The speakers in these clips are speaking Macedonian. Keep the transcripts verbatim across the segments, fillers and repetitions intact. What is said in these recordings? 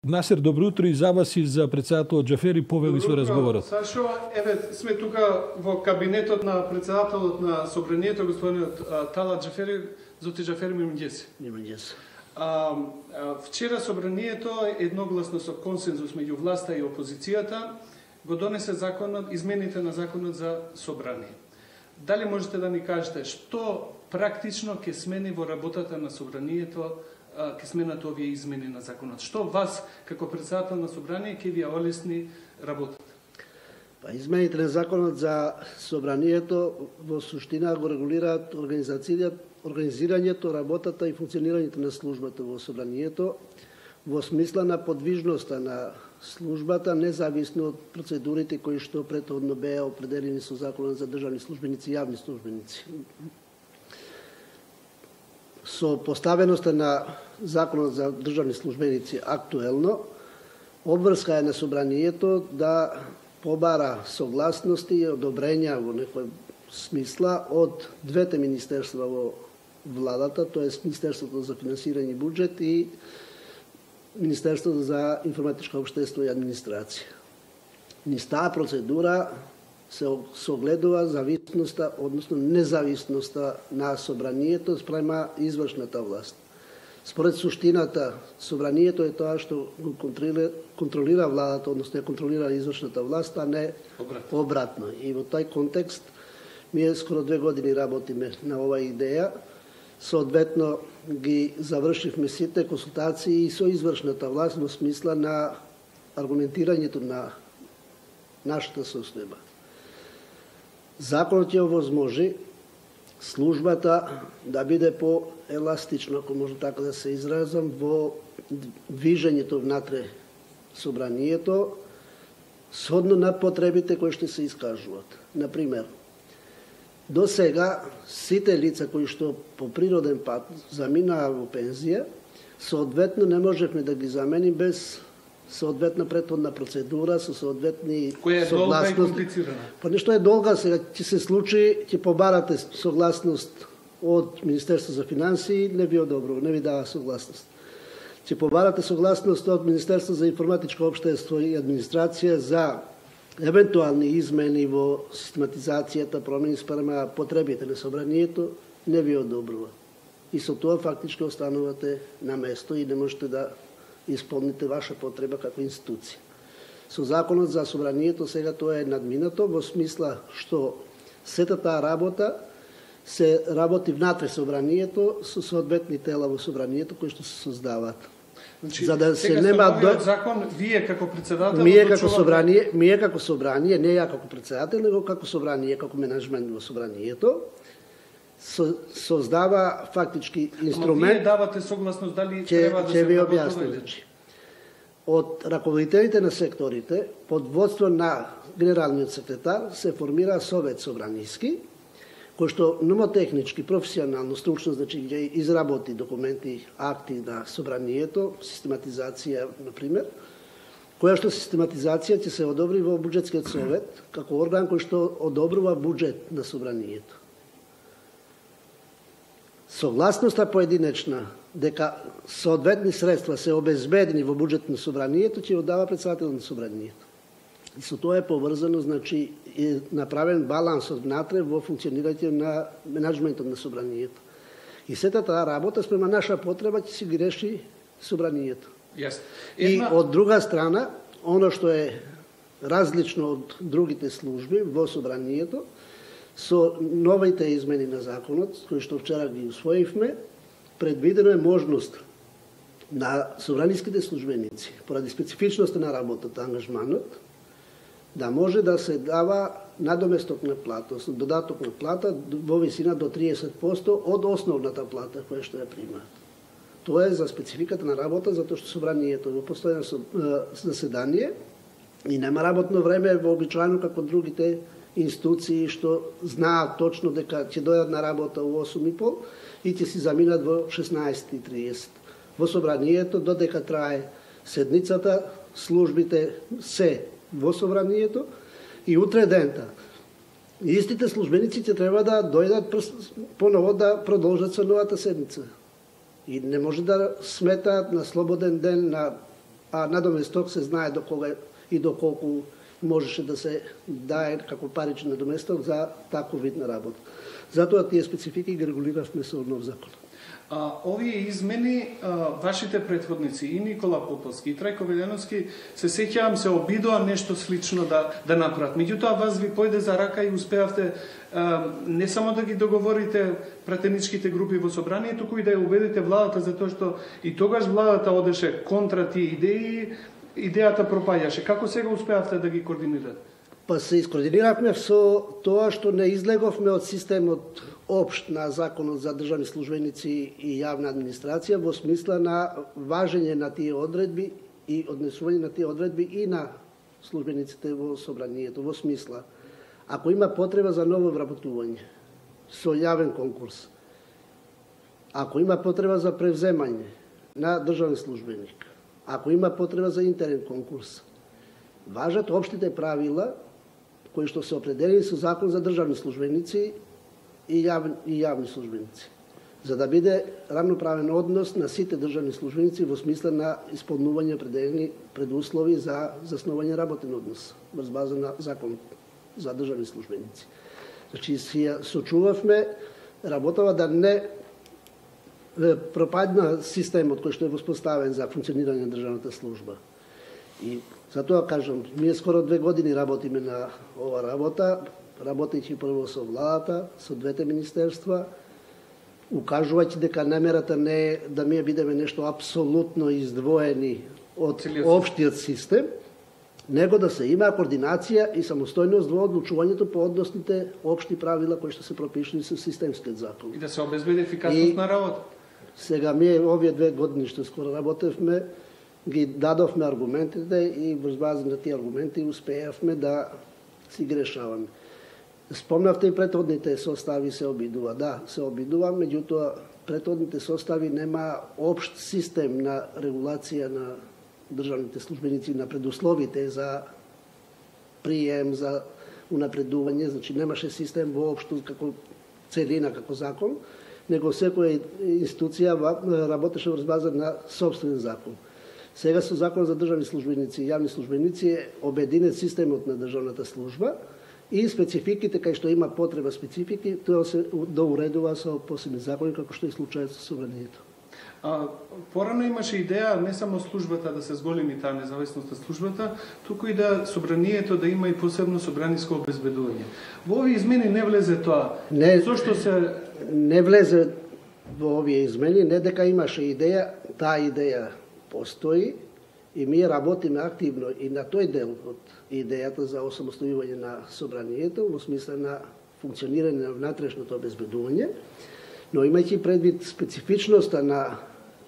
Насер, добро утро и за вас и за председателот Џафери, повели со разговорот. Сашо, еве сме тука во кабинетот на председателот на собранието, господинот Талат Џафери, Зоти Џафери Мимињеси. Мимињеси. А, вчера собранието едногласно со консензус меѓу власта и опозицијата го донесе законот, измените на законот за собрание. Дали можете да ни кажете што практично ќе смени во работата на собранието, ќе сменат овие измени на законот? Што вас, како председател на собрание, ќе ви олесни работата? Па, измените на законот за собранието во суштина го регулираат организирањето, работата и функционирањето на службата во собранието во смисла на подвижноста на службата, независно од процедурите кои што претходно беа определени со законот за државни службеници и јавни службеници. Со поставеноста на законот за државни службеници актуелно, обврска е на собранието да побара согласности и одобрења во некој смисла од двете министерства во владата, тоест Министерството за финансирање и буџет и Министерството за информатичко општество и администрација. Низ таа процедура се согледува зависноста, односно независноста на собранието спрема извршната власт. Според суштината, собранието е тоа што го контролира, контролира владата, односно ја контролира извршната власт, а не обратно. обратно. И во тој контекст, ние скоро две години работиме на оваа идеја, соодветно ги завршивме сите консултации и со извршната власт во смисла на аргументирањето на нашата состојба. Законот ја овозможи службата да биде по-еластично, ако може така да се изразам, во движењето внатре собранието, сhodно на потребите кои што се искажуваат. Например, до сега сите лица кои што по природен пат заминаа во пензија, соодветно не можевме да ги заменим без соодветна претходна процедура со соодветни согласности. Која е долга и комплицирана? Па нешто е долга, сега ќе се случи, ќе побарате согласност од Министерство за финансии, не ви одобрува, не ви дава согласност. Ќе побарате согласност од Министерство за информатичко општество и администрација за евентуални измени во систематизацијата, промени спрема потребите на собранието, не ви одобрува. И со тоа фактички останувате на место и не можете да исполните ваша потреба како институција. Со законот за собранието сега тоа е надминато во смисла што сета таа работа се работи внатре собранието со соодветни тела во собранието кои што се создаваат. Значи, за да се сега нема до закон, вие како председател, ние како собрание, ние како собрание, не ја како председател, него како собрание, како менаџмент во собранието, со, создава фактички инструмент. Ама вие давате согласност дали че, треба да се ви работи објаснам, значи. Од раководителите на секторите, под водство на генералниот секретар, се формира совет собраниски, кој што номотехнички, професионално, стручно, значи ќе изработи документи, акти на собранието, систематизација, например, која што систематизација ќе се одобри во буџетскиот совет, како орган кој што одобрува буџет на собранието. Согласноста поединечна дека соодветни средства се обезбедени во буџет на собранието ќе оддава председател на собранието. И со тоа е поврзано, значи, е направен баланс од внатре во функционирање на менаџментот на собранието. И сета таа работа спрема наша потреба ќе си ги реши собранието. Yes. И од друга страна, оно што е различно од другите служби во собранието, со новите измени на законот, кои што вчера ги усвоивме, предвидено е можност на собраниските службеници, поради специфичноста на работата, ангажманот, да може да се дава надоместок на плата, додаток на плата во висина до триесет проценти од основната плата која што ја примаат. Тоа е за спецификата на работа, затоа што собранието во постојано заседание и нема работно време вообичаено како другите институции што знаат точно дека ќе дојдат на работа во осум и пол и ќе си заминат во шеснаесет и триесет. Во собранието додека трае седницата, службите се во собранието и утре дента. Истите службеници ќе треба да дојдат поново да продолжат со новата седница. И не може да сметаат на слободен ден, на а надоместок се знае до кога и до колку можеше да се дае како паричен надоместок за таков вид на работа. Затоа тие специфики ги регулиравме со нов закон. А, овие измени, а, вашите претходници, и Никола Поповски, и Трајко Велјановски, се сеќавам, се обидоа нешто слично да, да направат. Меѓутоа, вас ви појде за рака и успеавте а, не само да ги договорите пратеничките групи во собрание, туку и да ја убедите владата, затоа што и тогаш владата одеше контра тие идеи, идејата пропаѓаше. Како сега успеавте да ги координирате? Па се искоординиравме со тоа што не излеговме од системот општ на законот за државни службеници и јавна администрација во смисла на важење на тие одредби и однесување на тие одредби и на службениците во собранието, во смисла ако има потреба за ново вработување со јавен конкурс, ако има потреба за превземање на државен службеник, ако има потреба за интерен конкурс, важат општите правила кои што се определени со закон за државни службеници и јавни, и јавни службеници, за да биде рамноправен однос на сите државни службеници во смисла на исполнување определени предуслови за заснување работен однос врз база на закон за државни службеници. Значи, си ја сочувавме работава да не пропадна системот кој што е воспоставен за функционирање на државната служба. И затоа кажам, ние скоро две години работиме на ова работа, работејќи прво со владата, со двете министерства, укажувајќи дека намерата не е да ние бидеме нешто апсолутно издвоени од општиот систем, него да се има координација и самостојност во одлучувањето по односните општи правила кои што се пропишани со системскиот закон. И да се обезбеди ефикасност и на работа. Сега ние овие две години што скоро работевме, ги дадовме аргументите и врз база на тие аргументи успеавме да си ги решаваме. Спомнавте и претhodните состави се обидува. Да, се обидува, меѓутоа претhodните состави нема општ систем на регулација на државните службеници, на предусловите за прием, за унапредување, значи немаше систем воопшто како целина, како закон, него секоја институција работеше врз база на собствен закон. Сега со закон за државни службеници и јавни службеници е обединет системот на државната служба и спецификите кај што има потреба специфики, тоа се доуредува со посебни закони, како што е случајот со собранието. А, порано имаше идеја не само службата да се зголеми таа независност на службата, туку и да собранието да има и посебно собраниско обезбедување. Во овие измени не влезе тоа. Не, Зошто се не влезе во овие измени, не дека имаше идеја, таа идеја постои и ние работиме активно и на тој дел од идејата за осамостојување на собранието во смисла на функционирање на внатрешното обезбедување, но имајќи предвид специфичноста на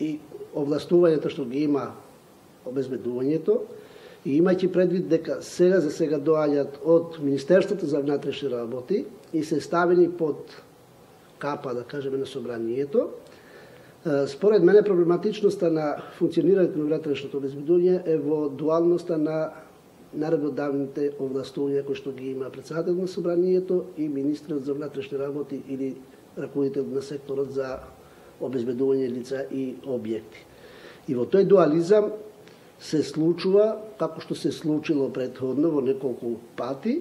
и овластувањето што ги има обезбедувањето и имајќи предвид дека сега за сега доаѓаат од Министерството за внатрешни работи и се ставени под капа, да кажеме, на собранието, според мене проблематичноста на функционирањето на внатрешното обезбедување е во дуалноста на наредбодавните овластувања кои што ги има председател на собранието и министрот за внатрешни работи или раководител на секторот за обезбедување лица и објекти. И во тој дуализам се случува, како што се случило претходно во неколку пати,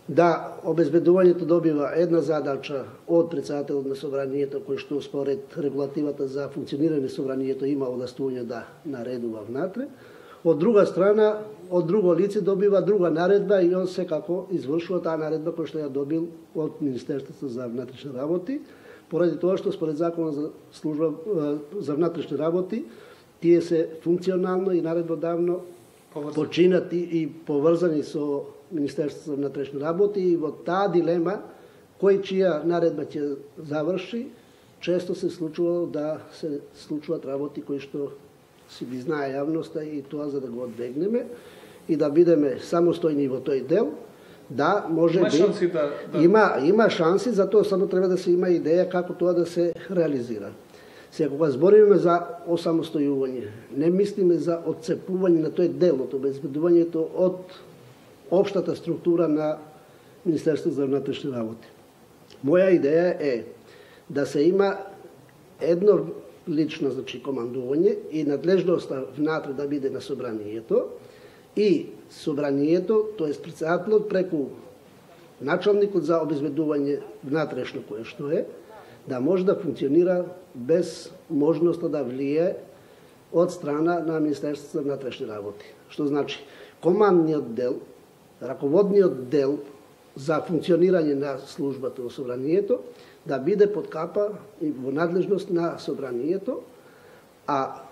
да обезбедувањето добива една задача од председателот на собранието, кој што според регулативата за функционирање на собранието има овластување да наредува внатре. Од друга страна, од друго лице добива друга наредба и он секако извршува таа наредба која што ја добил од Министерството за внатрешни работи, поради тоа што според законот за служба за внатрешни работи тие се функционално и наредбодавно починати и поврзани со Министерството за внатрешни работи и во таа дилема кој чија наредба ќе заврши, често се случувало да се случуваат работи кои што си ги знае јавноста и тоа за да го одбегнеме и да бидеме самостојни во тој дел. Да, може има би шанси да, да... има има шанси, затоа само треба да се има идеја како тоа да се реализира. Сега кога збориме за осамостојување, не мислиме за отцепување на тој дел од обезбедувањето од општата структура на Министерството за внатрешни работи. Моја идеја е да се има едно лично, значи, командување и надлежноста внатре да биде на собранието и собранието, тоест председателот преку началникот за обезбедување внатрешно кое што е, да може да функционира без можноста да влие од страна на Министерството за внатрешни работи. Што значи, командниот дел, раководниот дел за функционирање на службата во собранието да биде под капа и во надлежност на собранието, а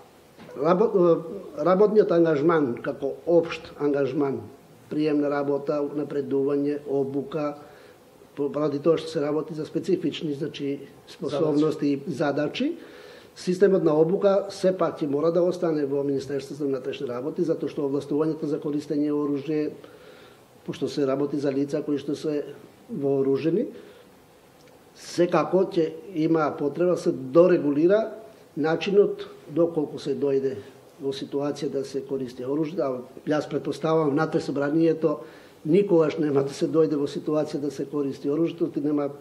работниот ангажман како општ ангажман, прием на работа, напредување, обука, поради тоа што се работи за специфични, значи, способности и задачи, системот на обука сепак ќе мора да остане во Министерството за внатрешни работи, затоа што овластувањето за користење оружје, пошто се работи за лица кои што се вооружени, секако ќе има потреба се дорегулира начинот доколку се дојде во ситуација да се користи оружје. А јас претпоставам внатре собранието никогаш нема да се дојде во ситуација да се користи оружјето, ти нема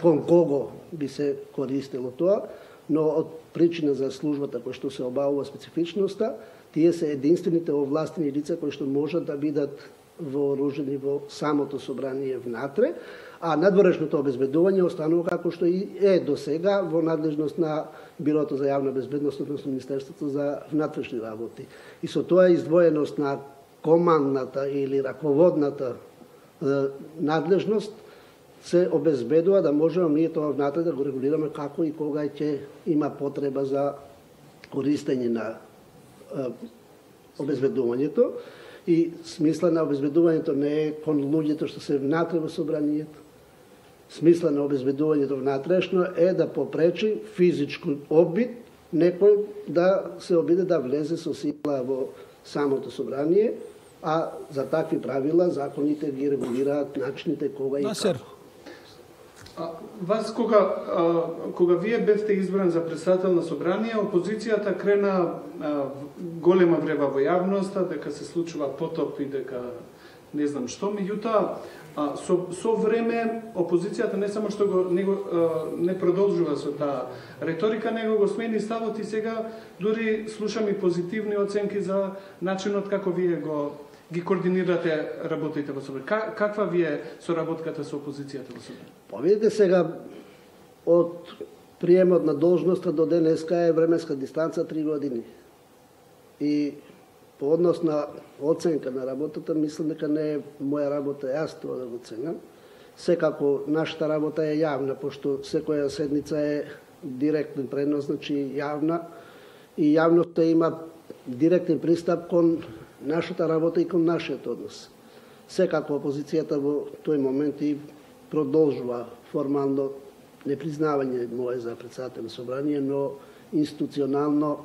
кон кого би се користело тоа, но од причина за службата која што се обавува специфичноста, тие се единствените овластени лица кои што можат да бидат вооружени во самото собрание внатре, а надворешното обезбедување останува како што и е до сега во надлежност на Бирото за јавна безбедност, односно Министерството за внатрешни работи. И со тоа издвоеност на командната или раководната е, надлежност се обезбедува да можеме ние тоа внатре да го регулираме како и кога ќе има потреба за користење на е, обезбедувањето. И смисла на обезбедувањето не е кон луѓето што се внатре во собранието. Смисла на обезбедувањето внатрешно е да попречи физичко обид некој да се обиде да влезе со сила во самото собрание, а за такви правила законите ги регулираат начините кога и како. А, вас кога а, кога вие бевте избран за председател на собрание, опозицијата крена а, голема врева во јавноста дека се случува потоп и дека не знам што, меѓутоа со со време опозицијата не само што го не, го, а, не продолжува со таа реторика, него го смени ставот и сега дури слушам и позитивни оценки за начинот како вие го ги координирате работите во собрание. Как, каква ви е соработката со опозицијата во собрание? Па видите сега, од приемот на должноста до денеска е временска дистанца три години. И по однос на оценка на работата, мислам дека не е моја работа јас тоа да го ценам. Секако нашата работа е јавна, пошто секоја седница е директен пренос, значи јавна, и јавноста има директен пристап кон нашата работа и кон нашиот однос. Секако опозицијата во тој момент и продолжува формално непризнавање мое за председател на собрание, но институционално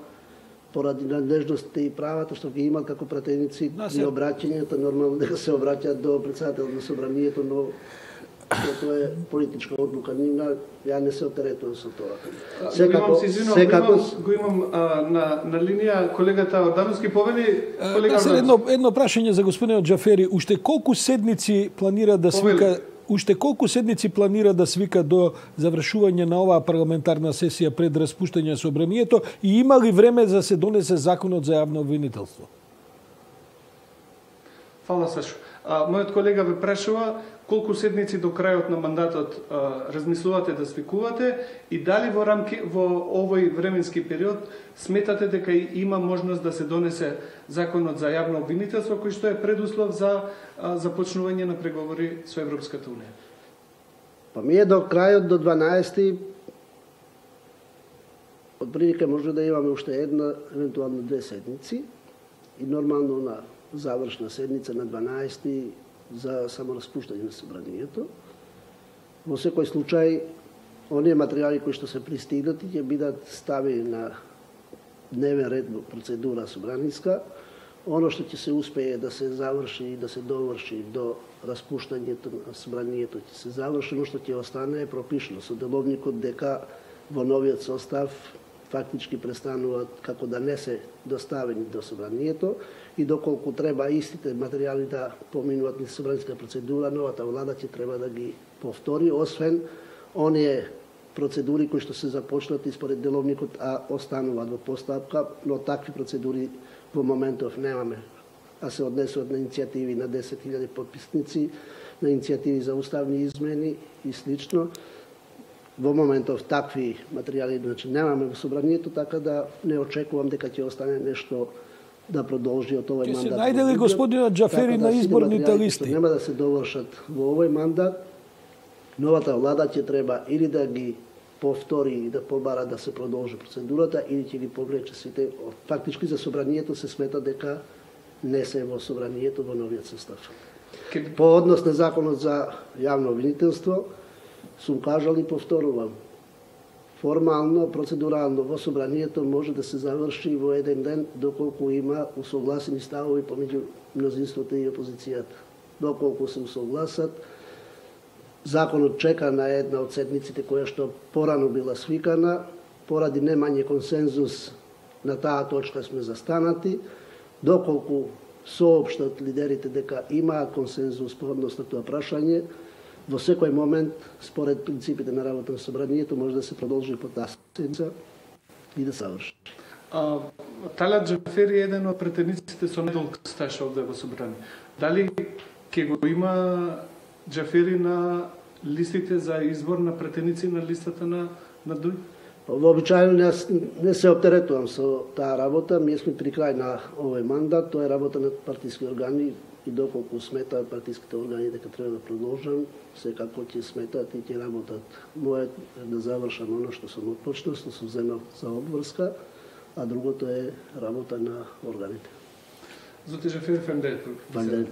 поради надлежностите и правата што ги имат како пратеници и обраќањето, нормално дека се обраќаат до председател на собранието, но тоа е политичка одлука нивна, ја не се отеретувам со тоа. Секако, секако го имам а, на на линија колегата Ордановски, повели колега Ордановски. Едно едно прашање за господинот Џафери, уште колку седници планира да свика Уште колку седници планира да свика до завршување на оваа парламентарна сесија пред распуштање собранието и има ли време за да се донесе законот за јавно обвинителство? Фала, Сашо. А, мојот колега ве прашува колку седници до крајот на мандатот а, размислувате да свикувате и дали во рамки во овој временски период сметате дека има можност да се донесе законот за јавно обвинителство кој што е предуслов за а, започнување на преговори со Европската унија? Па ми е до крајот до дванаесети од прилика може да имаме уште една, евентуално две седници и нормално на завршна седница на дванаесети за самораспуштање на собранието. Во секој случај, оние материјали кои што се пристигнати ќе бидат ставени на дневен ред во процедура собраниска. Оно што ќе се успее да се заврши и да се доврши до распуштањето на собранието ќе се заврши, но што ќе остане е пропишано со деловникот дека во новиот состав фактички престануваат како да не се доставени до собранието и доколку треба истите материјали да поминуваат низ собранска процедура, новата влада ќе треба да ги повтори, освен оние процедури кои што се започнати според деловникот, а остануваат во постапка, но такви процедури во моментов немаме. А се однесуваат на иницијативи на десет илјади потписници, на иницијативи за уставни измени и слично. Во моментов такви материјали значи немаме во собранието, така да не очекувам дека ќе остане нешто да продолжи од овој мандат. Ќе се најде ли господина Џафери на изборните листи? Нема да се довршат во овој мандат. Новата влада ќе треба или да ги повтори и да побара да се продолжи процедурата, или ќе ги повлече сите. Фактички за собранието се смета дека не се во собранието во новиот состав. По однос на законот за јавно обвинителство, сум кажал и повторувам. Формално, процедурално во собранието може да се заврши во еден ден доколку има усогласени ставови помеѓу мнозинството и опозицијата. Доколку се усогласат, законот чека на една од седмиците која што порано била свикана, поради немање консензус на таа точка сме застанати, доколку соопштат лидерите дека имаат консензус по однос на тоа прашање, во секој момент, според принципите на работа на собранието, може да се продолжи по таа седмица и да заврши. Талат Џафери е еден од претениците со најдолг стаж овде во собрание. Дали ќе го има Џафери на листите за избор на претеници на листата на на ДУИ? Вообичаено не, не се оптеретувам со таа работа, ние сме при крај на овој мандат, тоа е работа на партиски органи и доколку сметаат партиските органи дека треба да продолжам, секако ќе сметаат и ќе работат. Мојот е да завршам оно што сум отпочнал, што сум земал за обврска, а другото е работа на органите. Зоти Џафери, фемдет. Фемдет.